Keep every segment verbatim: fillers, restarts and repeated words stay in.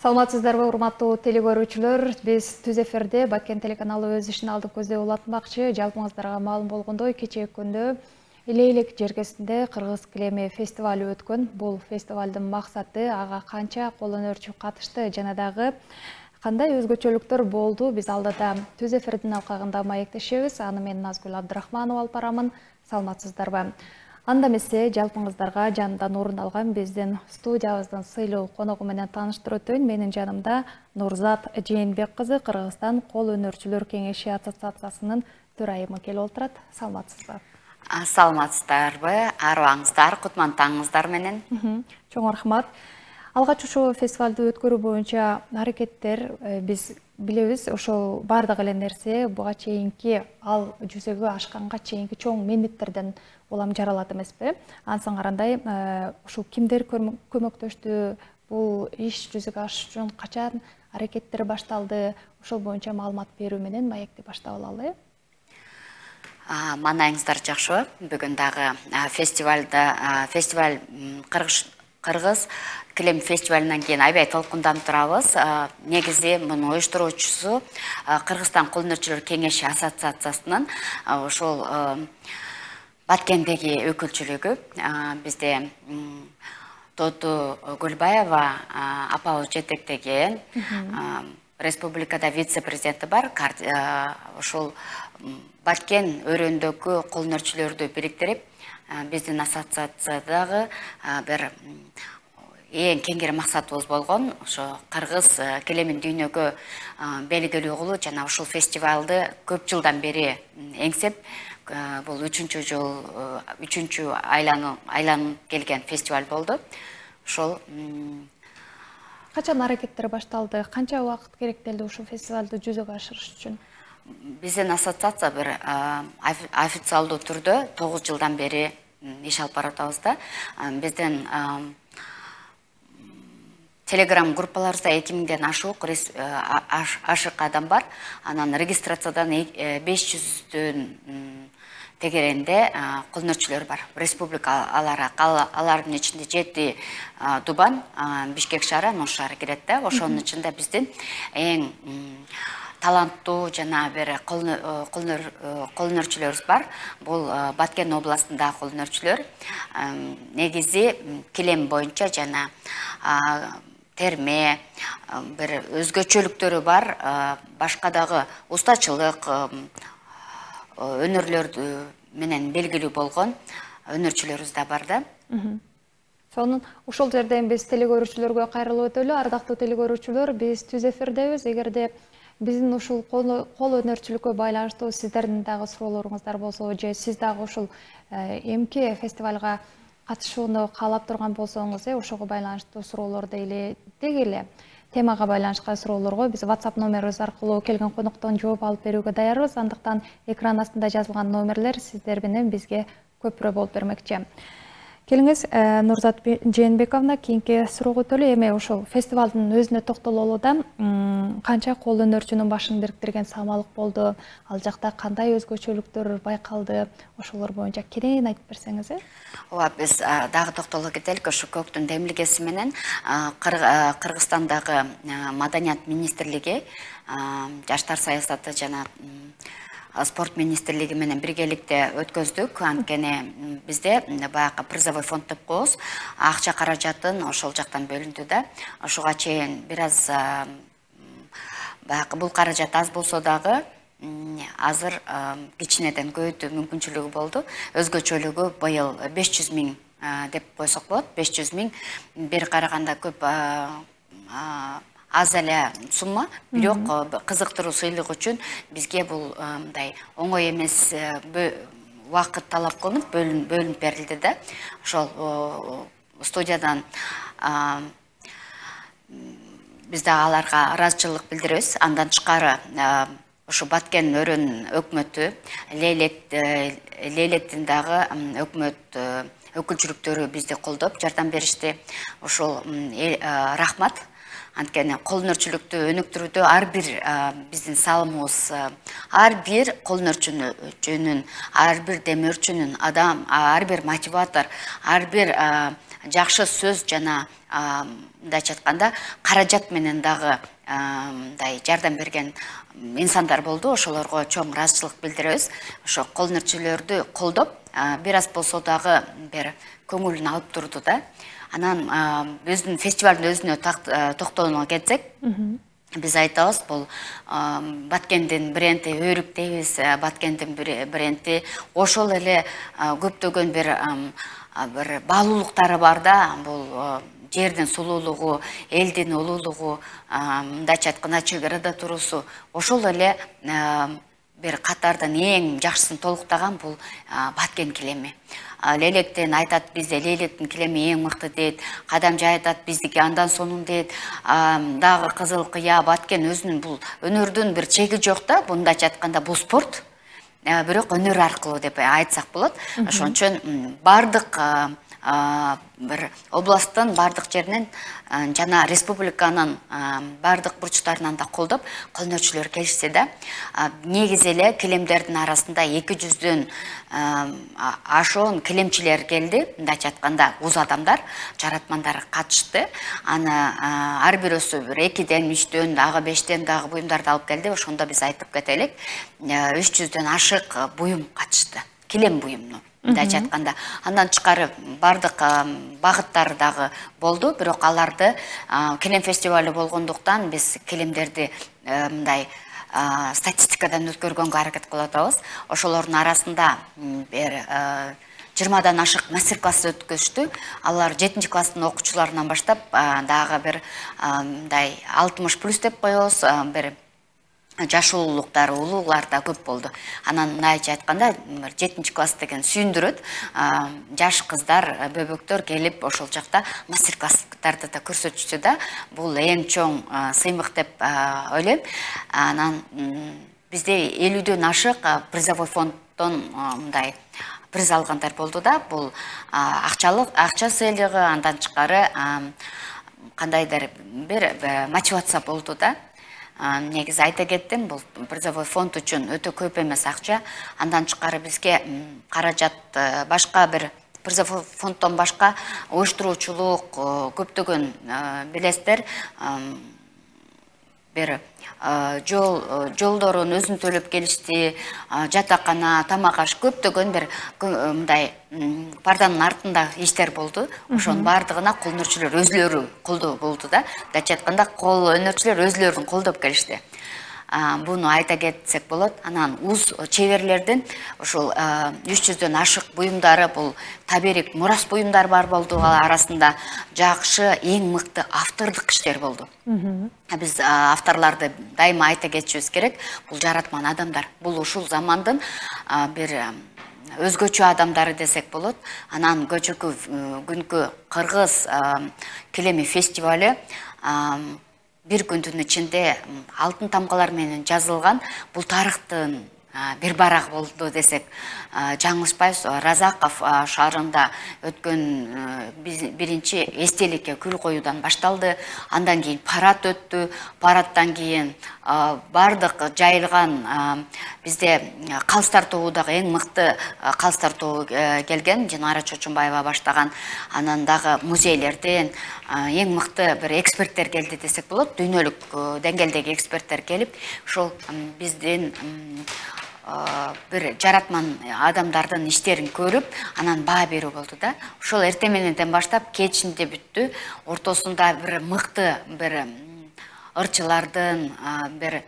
Саламатсыздарбы, урматтуу телекөрүүчүлөр. Биз Түз эфирде Баткен телеканалы өз ишин алдык көздөй улантмакчы. Жалпыңыздарга маалым болгондой, кечээ күндө Илейлик жергесинде Кыргыз килеми фестивалы өткөн. Бул фестивалдын максаты ага канча кол өнөрчү катышты жана дагы кандай өзгөчөлүктөр болду. Биз алдыда Түз эфирдин алкагында маектешебиз. Аны мен Назгүл Абдрахманова алып барамын. Саламатсыздарбы. Анда эмесе жалпыңыздарга жанымдан орун алган биздин студиябыздын сыйлуу коногу менен тааныштырып өтөйүн. Менин жанымда Нурзат Жээнбек кызы, Кыргызстан кол өнөрчүлөр кеңеши ассоциациясынын төрайымы келип отурат. Саламатсызбы? Саламатсыздарбы, арыбаңыздар, кутмандооңуздар менен. Чоң рахмат. Алгач ушул фестивалды өткөрүү боюнча аракеттер биз билебиз, ошол бардык эле нерсе буга чейинки ал жүзөгө ашканга чейинки чоң мендеттерден улам жаралат эмеспи? Ансын карандай ушул кимдер көмөктөштү, бул иш жүзөгө ашыш үчүн качан аракеттер башталды? Ошол боюнча маалымат берүү менен маекти баштап алалы. Маанайыңыздар жакшыбы? Бүгүн дагы фестивалда фестиваль Кыргыз килем фестивалынан кийин аябай толкунданып турабыз. Негизи муну уюштуруучусу Кыргызстан кол өнөрчүлөр кеңеши ассоциациясынын ошол Баткендеги өкүлчүлүгү. Бизде Тоту Гүлбаева апабыз жетектеген республикада вице-президенти бар. Ошол Баткен өрөөндөгү кол өнөрчүлөрдү бириктирип, биздин ассоциациядагы бир эң кеңири максатыбыз болгон ошо Кыргыз килемин дүйнөгө белгилүү кылуу жана ушул фестивалды көп жылдан бери эңсеп, бул үчүнчү жыл, үчүнчү айланып келген фестиваль болду. Ошол качан аракеттер башталды? Канча убакыт керектелди ушул фестивалды жүзөгө ашырыш үчүн? Биздин ассоциация бир официалдуу түрдө тогуз жылдан бери иш алып баратабыз да. Биздин телеграм группаларыбызда эки миңден ашык ашык адам бар. Анан регистрациядан беш жүздөн тегеренде кол өнөрчүлөр бар. Республика алары, алардын ичинде жети Дубан, Бишкек шаары, Ош шаары кирет да. Ошонун ичинде биздин эң таланттуу жана бир кол өнөрчүлөрүбүз бар. Бул Баткен областындагы кол өнөрчүлөр. Негизи килем боюнча жана терме, бир өзгөчөлүктөрү бар, башка дагы устачылык өнөрлөр менен белгилүү болгон өнөрчүлөрүбүз да бар да. Сонун ушул жерден биз телекөрүүчүлөргө кайрылып өтөлү. Ардактуу телекөрүүчүлөр, биз Түз эфирдебиз. Эгерде биздин ушул кол өнөрчүлүккө байланыштуу сиздердин дагы суроолоруңуздар болсо, же сиз дагы ушул эмки фестивалга катышууну каалап турган болсоңуз, ошого байланыштуу суроолорду эле деги эле темага байланышкан суроолорго биз WhatsApp номерибиз аркылуу келген коноктон жооп алып берүүгө даярбыз. Андыктан экран астында жазылган номерлер сиздер менен бизге көпүрө болуп бермекчи. Келиңиз, Нурзат Жээнбековна, кийинки суроого өтөлү. Эми ошол фестивалдын өзүнө токтололу да, канча кол өнөрчүнүн башын бириктирген самалык болду? Ал жакта кандай өзгөчөлүктөр байкалды? Ошолор боюнча кенен айтып берсеңиз. Ооба, биз дагы токтоло кетелик. Ошо көктүн демилгеси менен Кыргызстандагы Маданият министрлиги, Жаштар саясаты жана спорт министрлиги менен биргеликте өткөздүк. Анткени бизде баягы призовой фонд деп коебуз. Акча каражатын ошол жактан бөлүндү да. Ошого чейин бир аз баягы бул каражат аз болсо дагы азыр кичинеден көбөйтүү мүмкүнчүлүгү болду. Өзгөчөлүгү быйыл беш жүз миң деп койсок болот. беш жүз миң бир караганда көп аз эле сумма, бирок кызыктыруу сыйлык үчүн бизге бул мындай оңой эмес убакыт талап кылынып бөлүнүп берилди да. Ошол студиядан биз да аларга ыраазычылык билдиребиз. Андан тышкары ушу Баткен өрөөнүн өкмөтү, Лейлектин дагы өкмөт өкүлчүлүктөрү бизди колдоп, жардам беришти. Ошол рахмат. Анткени кол өнөрчүлүктү өнүктүрүүдө ар бир биздин салымыбыз, ар бир кол өнөрчүнүн, ар бир демөөрчүнүн, адам, ар бир мотиватор, ар бир жакшы сөз жана мындайча айтканда каражат менен дагы мындай жардам берген инсандар болду. Ошолорго чоң ыраазычылык билдиребиз. Ошо кол өнөрчүлөрдү колдоп, бир аз болсо дагы бир көңүлүн алып турду да. Анан биздин фестивалдын өзүнө токтогонго келсек, биз айтабыз, бул Баткендин бренди Өрүк дейбиз. Баткендин бренди ошол эле көптөгөн бир бир баалуулуктары бар да. Бул жердин сулуулугу, элдин улуулугу, мындайча айтканда чек арада туруусу, ошол эле бир катардын эң жакшысын толуктаган бул Баткен килеми. Лелектен айтат, бизде Лелектин килеми эң мыкты дейт. Кадамжай айтат, биздики андан сонун дейт. Дагы Кызыл Кыя, Баткен өзүнүн бул өнөрдүн бир чеги жок да. Мындайча айтканда бул спорт, бирок өнөр аркылуу деп айтсак болот. Ошон үчүн бардык бир областтын бардык жеринен жана республиканын бардык бурчтарынан да колдоп, кол өнөрчүлөр келишти да. Негизи эле килемдердин арасында эки жүздөн ашуун килемчилер келди. Мындайча айтканда уз адамдар, жаратмандар катышты. Аны ар бирөөсү бир экиден, үчтөн, дагы бештен дагы буюмдарды алып келди. Ошондо биз айтып кетелик, үч жүздөн ашык буюм катышты. Килем буюмну. Мындайча айтканда, андан тышкары бардык багыттары дагы болду, бирок аларды килем фестивалы болгондуктан биз килемдерди мындай статистикадан өткөргөнгө аракет кылып атабыз. Ошолордун арасында бир жыйырмадан ашык мастер-класс өткөздү. Алар жетинчи класстын окуучуларынан баштап дагы бир мындай алтымыш плюс деп коебуз, бир жашуулуктары, улуулар да көп болду. Анан мындайча айтканда, жетинчи класс деген сүйүндүрөт. Жаш кыздар, бөбөктөр келип ошол жакта мастер-класстарды да көрсөтүштү да. Бул эң чоң сыймык деп ойлойм. Анан бизде элүүдөн ашык призовой фонддон мындай приз алгандар болду да. Бул акчалык, акча сыйлыгы, андан тышкары кандайдыр бир мотивация болду да. Негизи айта кеттим, бул призовой фонд үчүн өтө көп эмес акча. Андан тышкары бизге каражат башка бир призовой фонддон башка уюштуруучулук көптөгөн билесиздер, бир жол жолдорун өзүн төлөп келишти, жатакана, тамак аш көптөгөн бир мындай парданын артында иштер болду. Ошонун бардыгына кол өнөрчүлөр өзүлөрү колдоо болду да. Мындайча айтканда, кол өнөрчүлөр өзүлөрүн колдоп келишти. Буну айта кетсек болот. Анан уз чеберлердин ошол үч жүздөн ашык буюмдары, бул таберик мурас буюмдар бар болду. Арасында жакшы, эң мыкты автордук иштер болду. Биз авторларды дайыма айта кетишибиз керек. Бул жаратман адамдар. Бул ушул замандын бир өзгөчө адамдары десек болот. Анан көчөкү күнкү Кыргыз килеми фестивалы бир күндүн ичинде алтын тамгалар менен жазылган. Бул тарыхтын бир барак болду десек жаңылышпайбыз. Разаков шаарында өткөн биринчи эстеликке күл коюудан башталды. Андан кийин парад өттү. Парадтан кийин бардык жайылган бизде калыстар тобу дагы эң мыкты калыстар тобу келген. Динара Чочунбаева баштаган. Анан дагы музейлерден эң мыкты бир эксперттер келди десек болот. Дүйнөлүк деңгээлдеги эксперттер келип, ошол биздин бир жаратман адамдардын иштерин көрүп, анан баа берүү болду да. Ошол эртең мененден баштап кечинде бүттү. Ортосунда бир мыкты бир ырчылардын, бир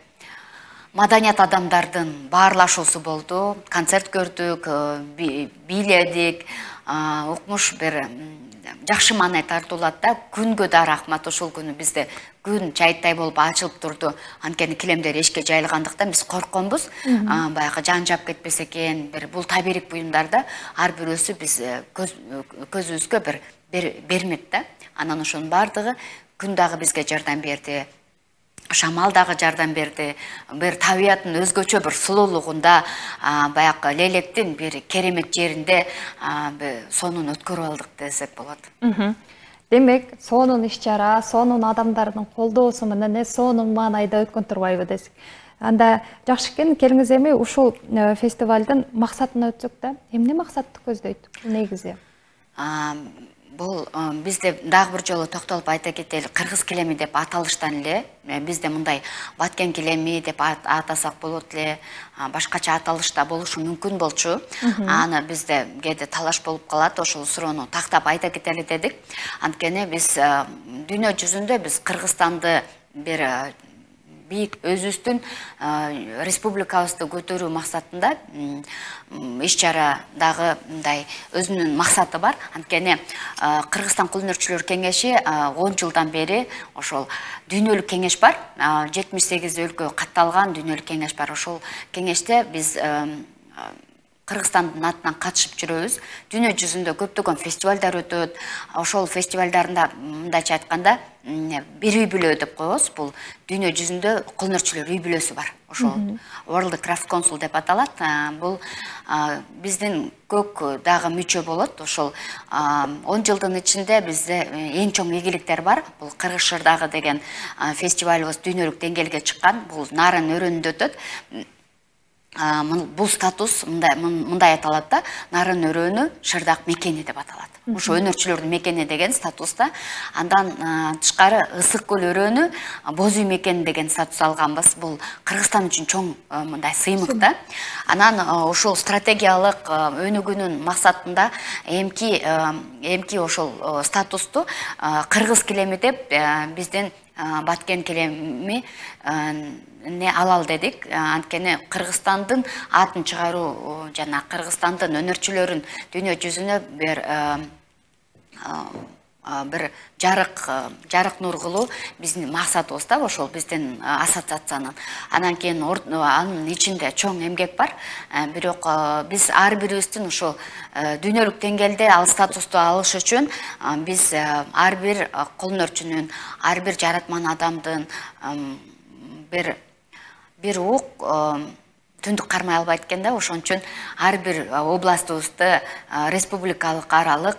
маданият адамдардын баарлашуусу болду. Концерт көрдүк, бийледик, укмуш бир жакшы маанай тартуулат да. Күнгө да рахмат, ошол күнү бизде күн чайтай болуп ачылып турду. Анткени килемдер эшикке жайылгандыктан биз коркконбуз. Баягы жан жап кетпесе экен, бир бул таберик буюмдарда ар бирөөсү биз көзүбүзгө бир бермек да. Анан ошонун бардыгы күн дагы бизге жардам берди. Шамал дагы жардам берди. Бир табияттын өзгөчө бир сулуулугунда, баягы Лелектин бир керемет жеринде сонун өткөрүп алдык десек болот. Демек, сонун иш-чара, сонун адамдардын колдоосу менен сонун маанайда өткөн турбайбы десек. Анда жакшы экен, келиңиз эми ушул фестивалдын максатына өтсөк да, эмне максатты көздөйт негизи? Бул бизде дагы бир жолу токтолуп айта кетели, кыргыз килеми деп аталыштан эле бизде мындай баткен килеми деп атасак болот эле, башкача аталышта болушу мүмкүн болчу. Аны бизде кээде талаш болуп калат, ошол суроону тактап айта кетели дедик. Анткени биз дүйнө жүзүндө биз Кыргызстанды бир бийик өзүбүздүн республикабызды көтөрүү максатында иш чара дагы мындай өзүнүн максаты бар. Анткени Кыргызстан кол өнөрчүлөр кеңеши он жылдан бери ошол дүйнөлүк кеңеш бар. жетимиш сегиз өлкө катталган дүйнөлүк кеңеш бар. Ошол кеңеште биз Кыргызстандын атынан катышып жүрөбүз. Дүйнө жүзүндө көптөгөн фестивалдар өтөт. Ошол фестивалдарында мындайча айтканда бир үй бүлө деп коебуз. Бул дүйнө жүзүндө кол өнөрчүлөр үй бүлөсү бар. Ошол World Craft Council деп аталат. Бул биздин көк дагы мүчө болот. Ошол он жылдын ичинде бизде эң чоң ийгиликтер бар. Бул Кыргыз Шырдагы деген фестивалыбыз дүйнөлүк деңгээлге чыккан. Бул Нарын өрөөнүндө өтөт. Бул статус мындай аталат да, Нарын өрөөнү Шырдак мекени деп аталат. Ошо өнөрчүлөрдүн мекени деген статуста. Андан тышкары Ысык көл өрөөнү Боз үй мекени деген статус алганбыз. Бул Кыргызстан үчүн чоң мындай сыймык да. Анан ошол стратегиялык өнүгүүнүн максатында эмки эмки ошол статусту кыргыз килеми деп биздин баткен килеми не алал дедик. Анткени Кыргызстандын атын чыгаруу жана Кыргызстандын өнөрчүлөрүн дүйнө жүзүнө бир бир жарык жарык нур кылуу биздин максатыбыз да, ошол биздин ассоциациянын. Анан кийин анын ичинде чоң эмгек бар. Бирок биз ар бирибиздин ошо дүйнөлүк деңгээлде ал статусту алыш үчүн биз ар бир кол өнөрчүнүн, ар бир жаратман адамдын бир бир ук түндүк кармай албайт экен да. Ошон үчүн ар бир областыбызды республикалык аралык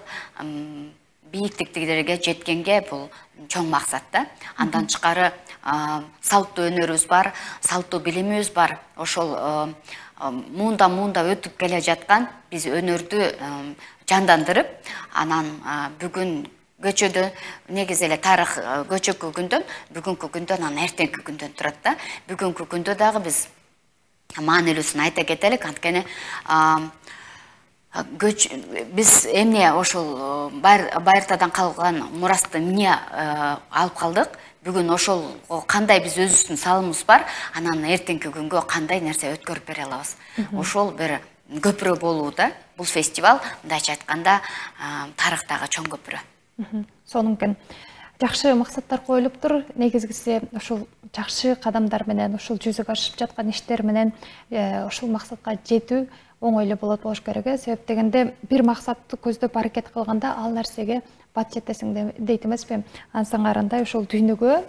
бийиктиктерге жеткенге бул чоң максат да. Андан тышкары салттуу өнөрүбүз бар, салттуу билимибиз бар. Ошол муунда муунда өтүп келе жаткан биз өнөрдү жандандырып, анан бүгүн көчөдө негизи эле тарых көчөккө күндөн, бүгүнкү күндөн, анан эртеңки күндөн турат да. Бүгүнкү күндө дагы биз маанилүүсүн айта кетелик. Анткени биз эмне ошол байыртадан калган мурасты эмне алып калдык? Бүгүн ошол кандай биз өзүбүздүн салымыбыз бар, анан эртеңки күнгө кандай нерсе өткөрүп бере алабыз. Ошол бир көпүрө болуу да. Бул фестиваль мындайча айтканда тарыхтагы чоң көпүрө. Сонун жакшы максаттар коюлуптур. Негизгиси ошол жакшы кадамдар менен, ошол жүзөгө ашып жаткан иштер менен ошол максатка жетүү оңой эле болот болуш керек. Себеп дегенде бир максатты көздөп аракет кылганда ал нерсеге бат жетесиң дейт эмеспи? Ансаңарындай ошол дүйнөгө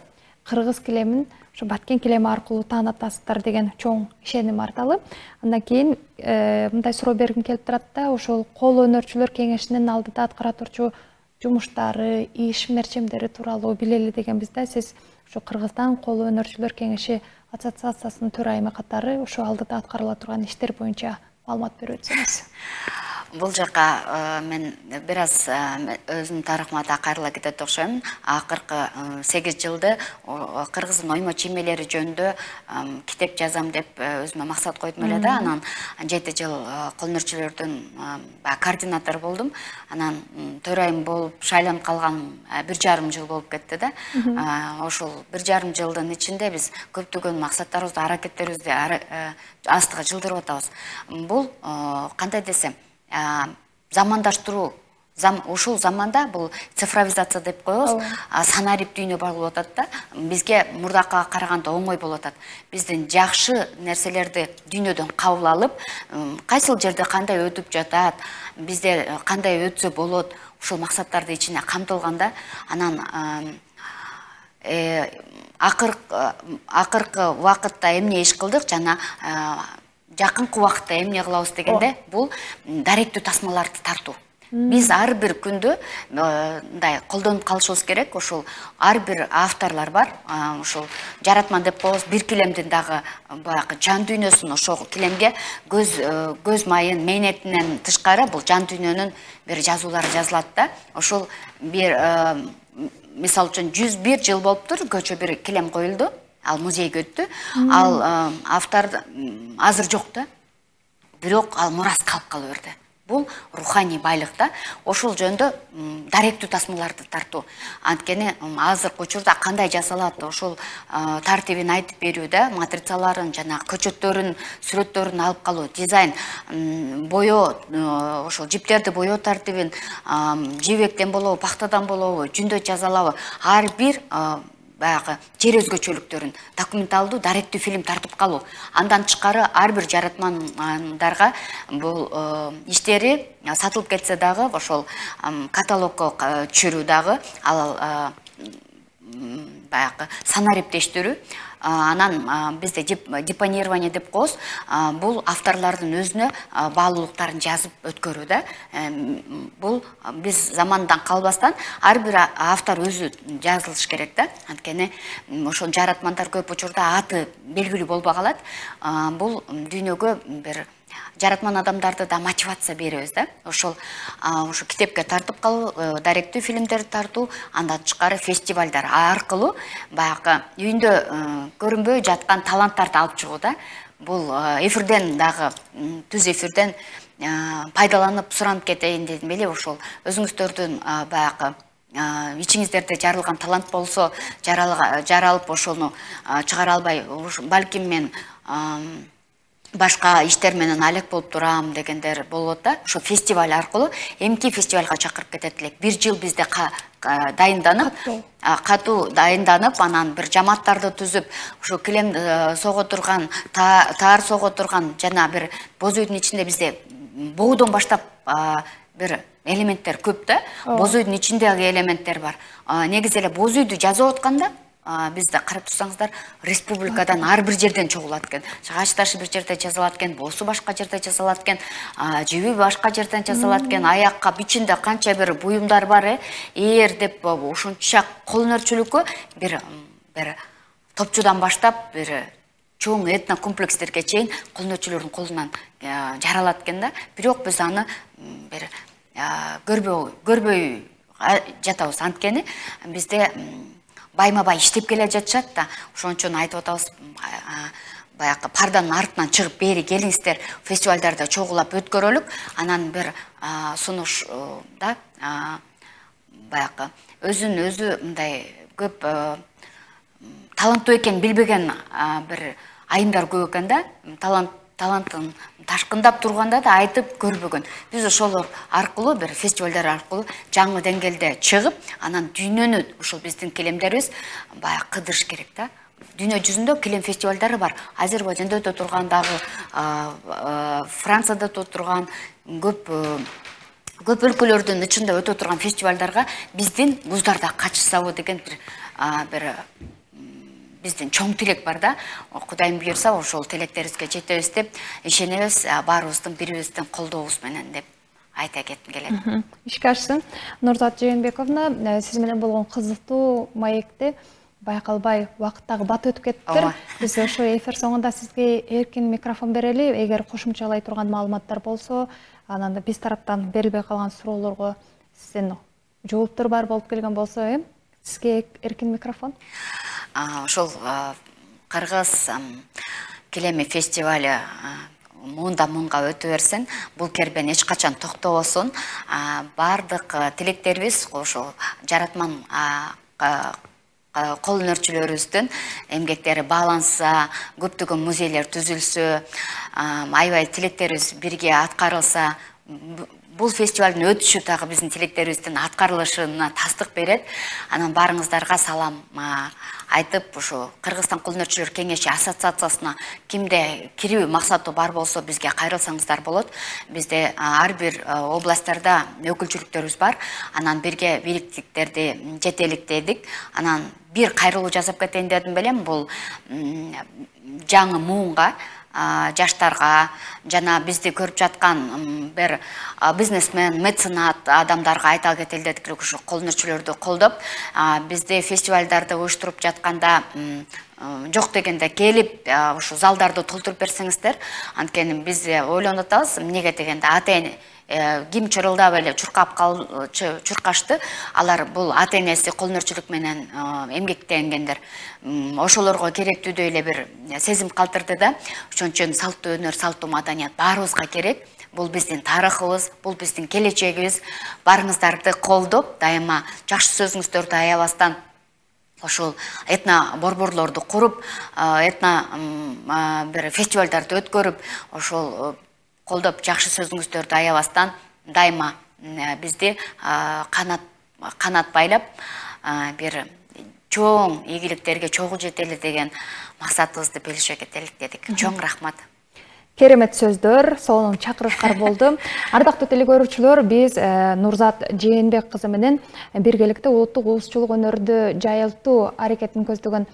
кыргыз килемин ошо баткен килеми аркылуу таанытасыздар деген чоң ишеним арталы. Андан кийин мындай суроо бергим келип турат да, ошол кол өнөрчүлөр кеңешинин алдыда аткара турчу жумуштары, иш мерчемдери тууралуу билели дегенбиз да. Сиз ошо Кыргызстан кол өнөрчүлөр кеңеши ассоциациясынын төрайымы катары ошо алдыда аткарыла турган иштер боюнча маалымат берип өтсөңүз. Бул жака мен бир аз өзүмдүн тарыхыма да кайрыла кетет окшойм. Акыркы сегиз жылды кыргыздын оймо чиймелери жөнүндө китеп жазам деп өзүмө максат койдум эле да. Анан жети жыл кол өнөрчүлөрдүн координатору болдум. Анан төрайым болуп шайланып калган бир жарым жыл болуп кетти да. Ошол бир жарым жылдын ичинде биз көптөгөн максаттарыбызды, аракеттерибизди астыга жылдырып атабыз. Бул кандай десем, замандаштыруу, ушул заманда бул цифровизация деп коебуз, санарип дүйнө болуп атат да. Бизге мурдакыга караганда оңой болуп атат. Биздин жакшы нерселерди дүйнөдөн кабыл алып, кайсыл жерде кандай өтүп жатат, бизде кандай өтсө болот, ушул максаттарды ичине камтылганда, анан акыркы убакытта эмне иш кылдык жана жакынкы убакытта эмне кылабыз дегенде, бул даректүү тасмаларды тартуу. Биз ар бир күндө мындай колдонуп калышыбыз керек. Ошол ар бир авторлор бар. Ошол жаратман деп коебуз. Бир килемдин дагы баягы жан дүйнөсүн ошол килемге көз көз майын, мээнетинен тышкары бул жан дүйнөнүн бир жазуулары жазылат да. Ошол бир мисалы үчүн жүз бир жыл болуптур, көчө бир килем коюлду. Ал музейге өттү. Ал автор азыр жок да. Бирок ал мурас калып кала берди. Бул руханий байлык да. Ошол жөндө даректүү тасмаларды тартуу. Анткени азыркы учурда кандай жасалат, ошол тартибин айтып берүү да, матрицаларын жана көчөттөрүн, сүрөттөрүн алып калуу, дизайн, боё, ошол жиптерди боё тартибин жибектен болобу, пахтадан болобу, жүндө жазалабы, ар бир баягы жер өзгөчөлүктөрүн документалдуу даректүү фильм тартып калуу. Андан тышкары ар бир жаратмандарга бул иштери сатылып кетсе дагы ошол каталогко түшүрүү дагы ал баягы санариптештирүү. Анан бизде депонирование деп коебуз. Бул авторлордун өзүнө баалуулуктарын жазып өткөрүү да. Бул биз замандан калбастан ар бир автор өзү жазылыш керек да. Анткени ошол жаратмандар көп учурда аты белгилүү болбой калат. Бул дүйнөгө бир жаратман адамдарды да мотивация беребиз да. Ошол ошо китепке тартып калуу, даректүү фильмдерди тартуу, андан тышкары фестивалдар аркылуу баягы үйүндө көрүнбөй жаткан таланттарды алып чыгуу да. Бул эфирден дагы түз эфирден пайдаланып суранып кетейин дедим эле. Ошол өзүңүздөрдүн баягы ичиңиздерде жаралган талант болсо, жаралып ошону чыгара албай, балким мен башка иштер менен алек болуп турам дегендер болот да. Ошо фестиваль аркылуу эмки фестивалга чакырып кетет элек. Бир жыл бизде дайынданып, катуу дайынданып, анан бир жамааттарды түзүп, ошо килем сого турган, таар сого турган жана бир боз үйдүн ичинде бизде боодон баштап бир элементтер көп да. Боз үйдүн ичиндеги элементтер бар. Негизи эле боз үйдү жазып атканда бизде карап турсаңыздар, республикадан ар бир жерден чогулат экен. Чагач ташы бир жерде жазалат экен, боосу башка жерде жазалат экен, жиби башка жерден жазалат экен, аякка бичинде канча бир буюмдар бар, э, ээр деп ошонча кол өнөрчүлүккө бир бир топчудан баштап бир чоң этно комплекстерге чейин кол өнөрчүлөрдүн колунан жаралат экен да. Бирок биз аны бир көрбөй көрбөй жатабыз. Анткени бизде байма-бай иштеп келе жатышат да. Ошон үчүн айтып атабыз, баягы парданын артынан чыгып бери келиңиздер, фестивалдарда чогулап өткөрөлүк. Анан бир сунуш да баягы өзүн өзү мындай көп таланттуу экенин билбеген бир айымдар көп экен да. Талант талантын ташкындап турганда да айтып көрбөгөн. Биз ошолор аркылуу бир фестивалдар аркылуу жаңы деңгээлде чыгып, анан дүйнөнү ошол биздин килемдерибиз баягы кыдырыш керек да. Дүйнө жүзүндө килем фестивалдары бар. Азербайжанда өтө турган дагы, Францияда өтө турган, көп көп өлкөлөрдүн ичинде өтө турган фестивалдарга биздин куздар да катышсабы деген бир бир биздин чоң тилек бар да. Кудайым буйрса, ошол тилектерибизге жетебиз деп ишенебиз, баарыбыздын бирибиздин колдообуз менен деп айта кетким келет. Ишке ашсын. Нурзат Жээнбековна, сиз менен болгон кызыктуу маекти байкалбай убакыттагы бат өтүп кетиптир. Биз ошо эфир соңунда сизге эркин микрофон берели. Эгер кошумчалай турган маалыматтар болсо, анан биз тараптан берилбей калган суроолорго сиздин жооптор бар болуп келген болсо, э, сизге эркин микрофон. Ошол Кыргыз килеми фестиваль муунда муунга өтө берсин, бул кербен эч качан токтобосун. Бардык тилектерибиз ошол жаратман кол өнөрчүлөрүбүздүн эмгектери бааланса, көптөгөн музейлер түзүлсө, аябай тилектерибиз бирге аткарылса, бул фестивалдын өтүшү дагы биздин тилектерибиздин аткарылышына тастык берет. Анан баарыңыздарга салам айтып, ушу Кыргызстан кол өнөрчүлөр кеңеши ассоциациясына кимде кирүү максаты бар болсо бизге кайрылсаңыздар болот. Бизде ар бир областтарда өкүлчүлүктөрүбүз бар. Анан бирге бийликтиктерди жетеликтедик. Анан бир кайрылуу жасап кетейин дедим белем, бул жаңы муунга жаштарга жана бизди көрүп жаткан бир бизнесмен, меценат адамдарга айта кетелдик, ушу колдонуучулөрдү колдоп, бизде фестивалдарды уюштуруп жатканда жок дегенде келип ушу залдарды толтуруп берсеңиздер, анткени биз ойлонуп атабыз, эмнеге дегенде ата ким чырылдап эле чуркап чуркашты, алар бул ата энеси колдонуучулук менен эмгектенгендер. Ошолорго керектүүдөй эле бир сезим калтырды да. Ошон үчүн салттуу өнөр, салттуу маданият баарыбызга керек. Бул биздин тарыхыбыз, бул биздин келечегибиз. Барыңыздарды колдоп, дайыма жакшы сөзүңүздөрдү аябастан ошол этно борборлорду куруп, этно бир фестивалдарды өткөрүп, ошол колдоп жакшы сөзүңүздөрдү аябастан дайыма бизди канат канат байлап бир чоң ийгиликтерге чогуу жетели деген максатыбызды белгилеше кетелик дедик. Чоң рахмат. Керемет сөздөр, сонун чакырышкар болду. Ардактуу телекөрүүчүлөр, биз Нурзат Жээнбек кызы менен биргеликте улуттук уузчулук өнөрдү жайылтуу аракетин көздөгөн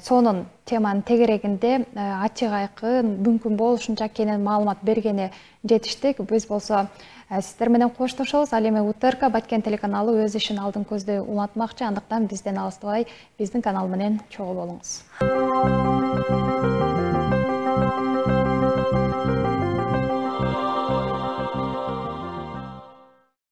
сонун теманын тегерегинде ачык айкын, мүмкүн болушунча кенен маалымат бергени жетиштик. Биз болсо сиздер менен коштошобуз. Ал эми УТРК Баткен телеканалы өз ишин алдын көздөй улантмакчы, андыктан бизден алыстабай биздин канал менен чогуу болуңуз.